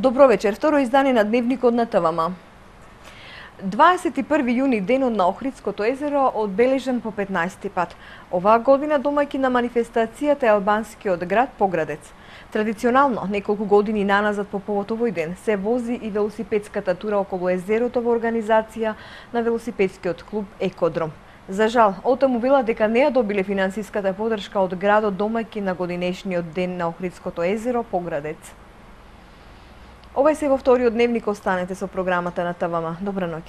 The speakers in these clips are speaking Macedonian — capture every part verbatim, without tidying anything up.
Добро вечер, второ издание на Дневникот на ТВМ. дваесет и први јуни, денот на Охридското езеро, одбележан по петнаесети пат. Оваа година домаќин на манифестацијата е албанскиот град Поградец. Традиционално, неколку години наназад по повод овој ден, се вози и велосипедската тура околу езерото во организација на велосипедскиот клуб Екодром. За жал, автомобила дека не ја добиле финансиската поддршка од градот домаќин на годинешниот ден на Охридското езеро Поградец. Ова е се во вториот дневник, останете со програмата на ТВМ. Добра ноќ.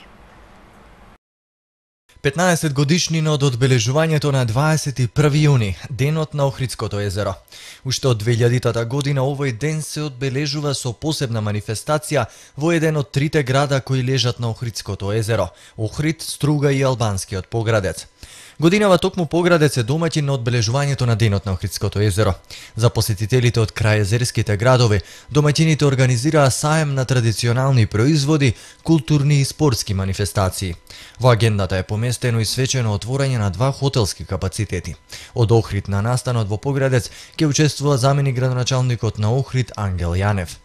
петнаесет годишнина од одбележувањето на дваесет и први јуни, денот на Охридското езеро. Уште од две илјадитата година овој ден се одбележува со посебна манифестација во еден од трите града кои лежат на Охридското езеро – Охрид, Струга и албанскиот Поградец. Годинава токму Поградец е домаќин на одбележувањето на денот на Охридското езеро. За посетителите од крај езерските градови, домаќините организираа саем на традиционални производи, културни и спортски манифестации. Во агендата е поместено и свечено отворање на два хотелски капацитети. Од Охрид на настанот во Поградец ќе учествува заменик градоначалникот на Охрид Ангел Јанев.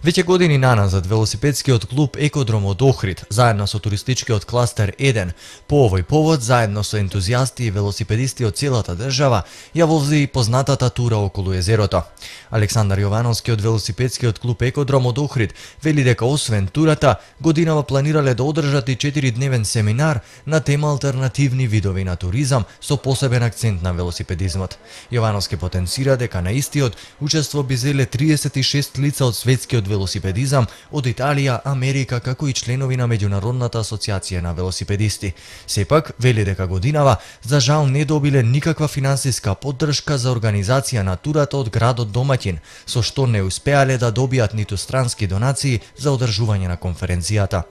Веќе години наназад велосипедскиот клуб Екодром од Охрид, заедно со туристичкиот кластер еден, по овој повод, заедно со ентузијасти и велосипедисти од целата држава, ја вози и познатата тура околу езерото. Александар Јовановски од велосипедскиот клуб Екодром од Охрид вели дека освен турата, годинава планирале да одржат и четиридневен семинар на тема алтернативни видови на туризам со посебен акцент на велосипедизмот. Јовановски потенцира дека на истиот учество би земе триесет и шест лица од светскиот велосипедизам од Италија, Америка, како и членови на Меѓународната асоциација на велосипедисти. Сепак, вели дека годинава, за жал не добиле никаква финансиска поддршка за организација на турата од градот домаќин, со што не успеале да добијат ниту странски донации за одржување на конференцијата.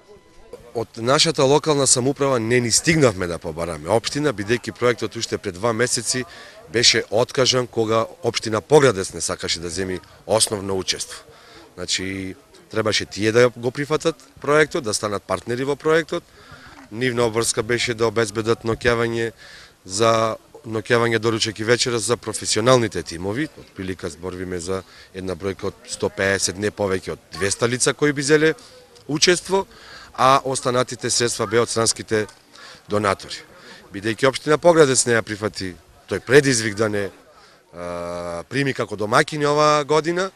Од нашата локална самоуправа не ни стигнавме да побараме општина, бидејќи проектот уште пред два месеци беше откажан кога општина Поградец не сакаше да земи основно учество. Значи, требаше тие да го прифатат проектот, да станат партнери во проектот. Нивна обврска беше да обезбедат ноќавање за ноќавање доручек и вечера за професионалните тимови. Отприлика зборвиме за една бројка од сто пеесет, не повеќе од двеста лица кои би земеле учество, а останатите средства беа од странските донатори. Бидејќи општина Поградец не ја прифати тој предизвик да не а, прими како домаќини оваа година,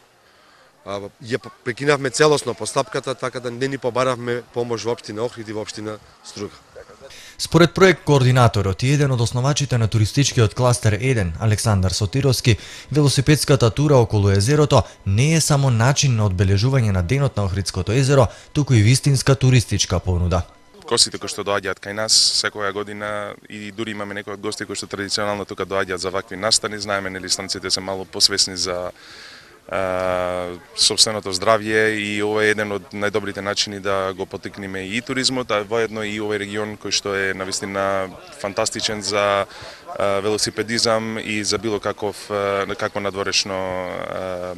ја прекинавме целосно постапката, така да не ни побаравме помош во општина Охрид и во општина Струга. Според проект координаторот и еден од основачите на туристичкиот кластер еден, Александар Сотировски, велосипедската тура околу езерото не е само начин на одбележување на денот на Охридското езеро, туку и вистинска туристичка понуда. Гостите кои што доаѓаат кај нас секоја година и дури имаме некои од гости кои што традиционално тука доаѓаат за вакви настани, знаеме нели станците се мало посвесни за Uh, собственото здравје и ова е еден од најдобрите начини да го потикнеме и туризмот, а воедно и овој регион кој што е навистина фантастичен за uh, велосипедизам и за било каков uh, какво надворешно uh,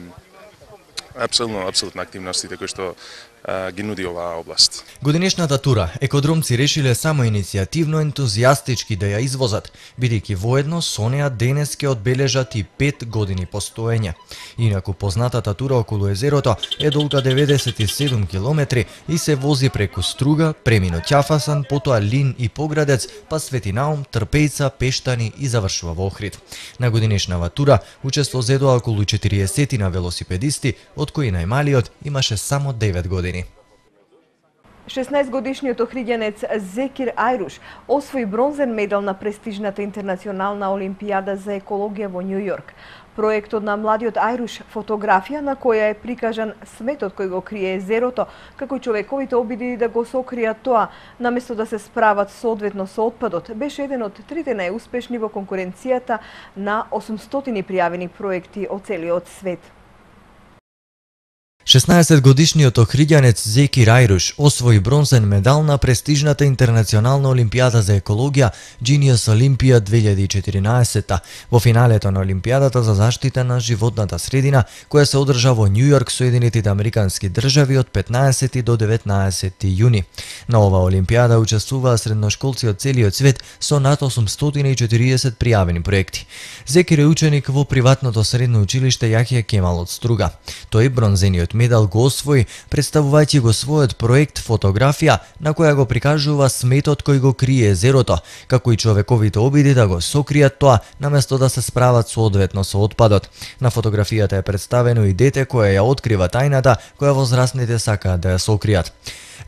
апсолутно апсолутно активностите кои што uh, ги нуди оваа област. Годинешната тура екодромци решиле само иницијативно ентузијастички да ја извозат, бидејќи воедно со неа денес ќе одбележат и пет години постоење. Инаку познатата тура околу езерото е долга деветдесет и седум километри и се вози преку Струга, премино Ќафасан, потоа Лин и Поградец, па Свети Наум, Трпејца, Пештани и завршува во Охрид. На годинешнава тура учество зедоа околу четириесет на велосипедисти, од кои најмалиот имаше само девет години. шеснаесет годишниот охриѓанец Зекир Ајруш освои бронзен медал на престижната интернационална олимпијада за екологија во Њу Јорк. Проектот на младиот Ајруш, фотографија на која е прикажан сметот кој го крие езерото, како и човековите обиди да го сокријат тоа, наместо да се справат соодветно со отпадот, беше еден од трите најуспешни во конкуренцијата на осумстотини пријавени проекти од целиот свет. шеснаесет годишниот охриѓанец Зекир Ајруш освои бронзен медал на престижната интернационална олимпијада за екологија Genius Olympia две илјади и четиринаесет во финалето на олимпијадата за заштита на животната средина, која се одржа во Њу Јорк, Соединетите американски држави од петнаесети до деветнаесети јуни. На оваа олимпијада учествуваа средношколци од целиот свет со над осумстотини и четириесет пријавени проекти. Зекир е ученик во приватното средно училиште Јахја Кемал од Струга. Тој бронзениот Медал го освои, представувајќи го својот проект фотографија на која го прикажува сметот кој го крие езерото, како и човековите обиди да го сокријат тоа, наместо да се справат соодветно со отпадот. На фотографијата е представено и дете кое ја открива тајната која возрастните сакаат да ја сокријат.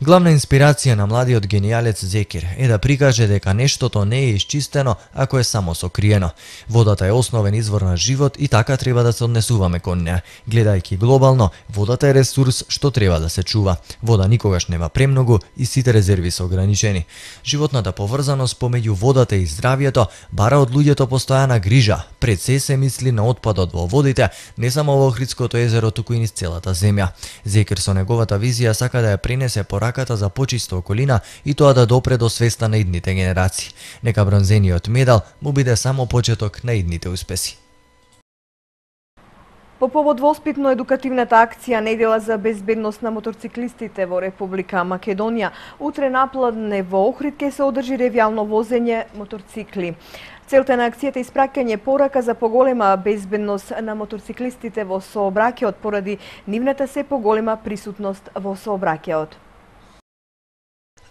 Главна инспирација на младиот генијалец Зекир е да прикаже дека нештото не е исчистено ако е само сокриено. Водата е основен извор на живот и така треба да се однесуваме кон неа. Гледајќи глобално, водата е ресурс што треба да се чува. Вода никогаш нема премногу и сите резерви се ограничени. Животната поврзаност помеѓу водата и здравието бара од луѓето постојана грижа. Пред се се мисли на отпадот во водите, не само во Охридското езеро, туку и низ целата земја. Зекир со неговата визија сака да ја пренесе пораката за почиста околина и тоа да допре до свеста на идните генерации. Нека бронзениот медал му биде само почеток на идните успеси. По повод воспитно-едукативната акција Недела за безбедност на моторциклистите во Република Македонија, утре напладне во Охрид ќе се одржи ревијално возење моторцикли. Целта на акцијата е испраќање порака за поголема безбедност на моторциклистите во сообраќајот поради нивната се поголема присутност во сообраќајот.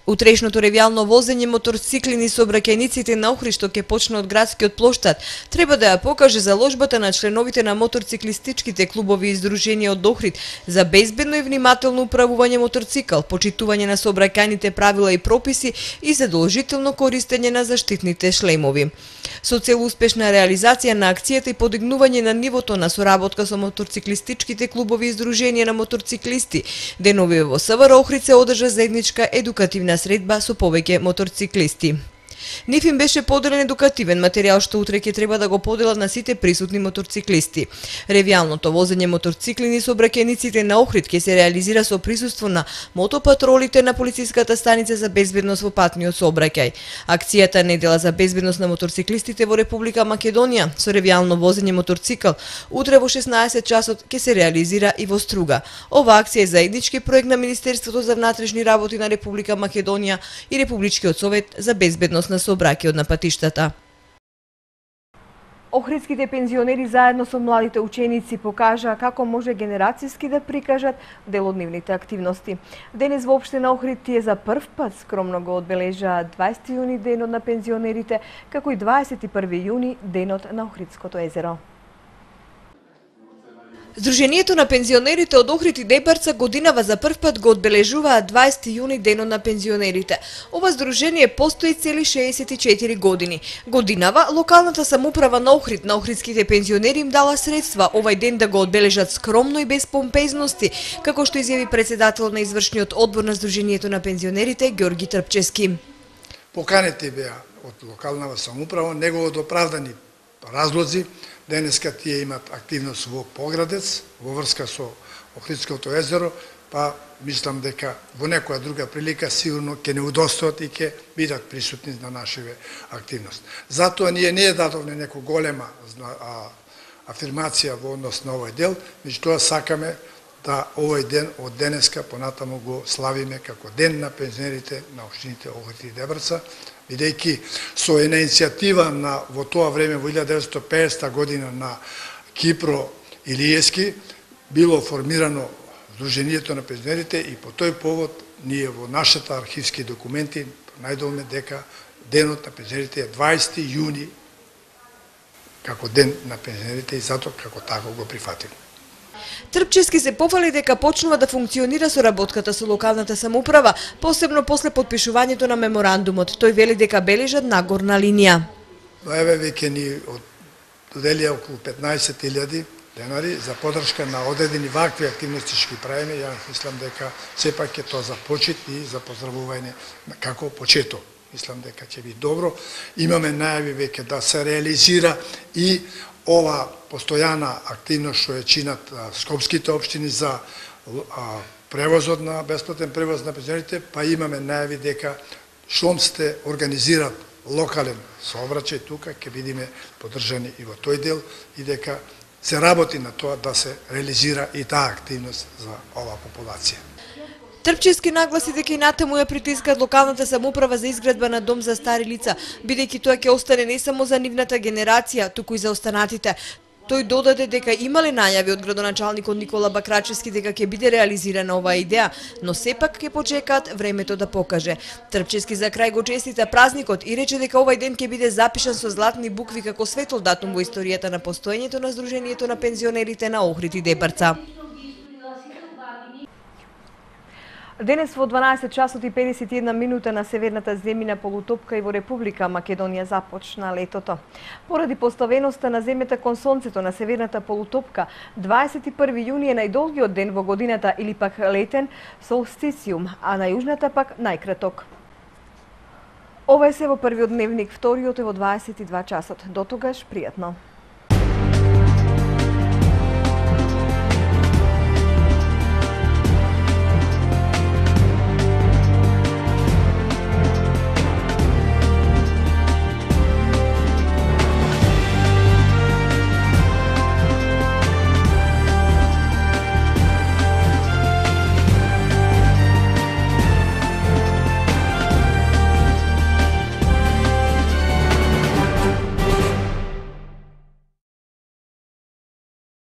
Утрешното ревијално возење моторцикли низ сообраќајниците на Охрид, што ќе почне од градскиот плоштад, треба да ја покаже заложбата на членовите на моторциклистичките клубови и здруженија од Охрид за безбедно и внимателно управување моторцикл, почитување на сообраќајните правила и прописи и задолжително користење на заштитните шлемови. Со цел успешна реализација на акцијата и подигнување на нивото на соработка со моторциклистичките клубови и здруженија на моторциклисти, денови во СВР Охрид се одржа заедничка едукативна средба со повеќе моторциклисти. Нив им беше поделен едукативен материјал што утре ќе треба да го поделат на сите присутни моторциклисти. Ревијалното возење моторцикли низ сообраќајниците на Охрид ќе се реализира со присуство на мотопатролите на полициската станица за безбедност во патниот сообраќај. Акцијата Недела за безбедност на моторциклистите во Република Македонија со ревијално возење моторцикл утре во шеснаесет часот ќе се реализира и во Струга. Ова акција е заеднички проект на Министерството за внатрешни работи на Република Македонија и Републичкиот совет за безбедност на сообраќајот на патиштата. Охридските пензионери заедно со младите ученици покажаа како може генерацијски да прикажат дел од нивните активности. Денес во општина Охрид тие за прв пат скромно го одбележаа дваесети јуни денот на пензионерите, како и дваесет и први јуни денот на Охридското езеро. Сдруженијето на пензионерите од Охрид и Дебарца годинава за прв пат го одбележуваат дваесети јуни денот на пензионерите. Ова сдружение постои цели шеесет и четири години. Годинава локалната самоуправа на Охрид на охридските пензионери им дала средства овај ден да го одбележат скромно и без помпезности, како што изјави председател на извршниот одбор на Сдруженијето на пензионерите Ѓорги Трпчевски. Поканети беа од локалната самоуправа, него од оправдани разлози. Денеска тие имат активност во Поградец, во врска со Охридското езеро, па мислам дека во некоја друга прилика сигурно ќе не удостоат и ќе бидат присутни на нашиве активност. Затоа ние не дадовме некоја голема афирмација во однос на овој дел, меѓутоа сакаме да овој ден од денеска понатаму го славиме како ден на пензионерите на општините Охрид и Дебарца, бидејќи со една иницијатива на во тоа време во илјада деветстотини и педесета година на Кипро Илиевски било формирано Сдруженијето на пензионерите и по тој повод ние во нашите архивски документи најдовме дека денот на пензионерите е дваесети јуни како ден на пензионерите и затоа како тако го прифативме. Трпчевски се пофали дека почнува да функционира соработката со локалната самоуправа, посебно после подпишувањето на меморандумот. Тој вели дека бележат нагорна линија. Еве веќе ни доделија околу петнаесет илјади денари за подршка на одредени вакви активности што ги правиме. Ја мислам дека сепак е тоа за почит и за поздравување како почеток. Мислам дека ќе биде добро. Имаме најави веќе да се реализира и ова постојана активност што е чинат скопските општини за превозот на бесплатен превоз на пензионерите, па имаме најави дека штом сте организират локален сообраќај тука, ќе бидеме поддржани и во тој дел и дека се работи на тоа да се реализира и таа активност за оваа популација. Трпчевски нагласи дека и натаму ја притискаат локалната самоуправа за изградба на дом за стари лица, бидејќи тоа ќе остане не само за нивната генерација, туку и за останатите. Тој додаде дека имале најави од градоначалникот Никола Бакрачевски дека ќе биде реализирана оваа идеја, но сепак ќе почекаат времето да покаже. Трпчевски за крај го честита празникот и рече дека овај ден ќе биде запишан со златни букви како светол датум во историјата на постоењето на Сдруженијето на пензионерите на Охрид и Дебарца. Денес во дванаесет часот и педесет и една минута на северната земјина полутопка и во Република Македонија започна летото. Поради поставеноста на земјата кон сонцето на северната полутопка, дваесет и први јуни е најдолгиот ден во годината или пак летен солстициум, а на јужната пак најкраток. Ова е се во првиот дневник, вториот е во дваесет и два часот. До тогаш, пријатно.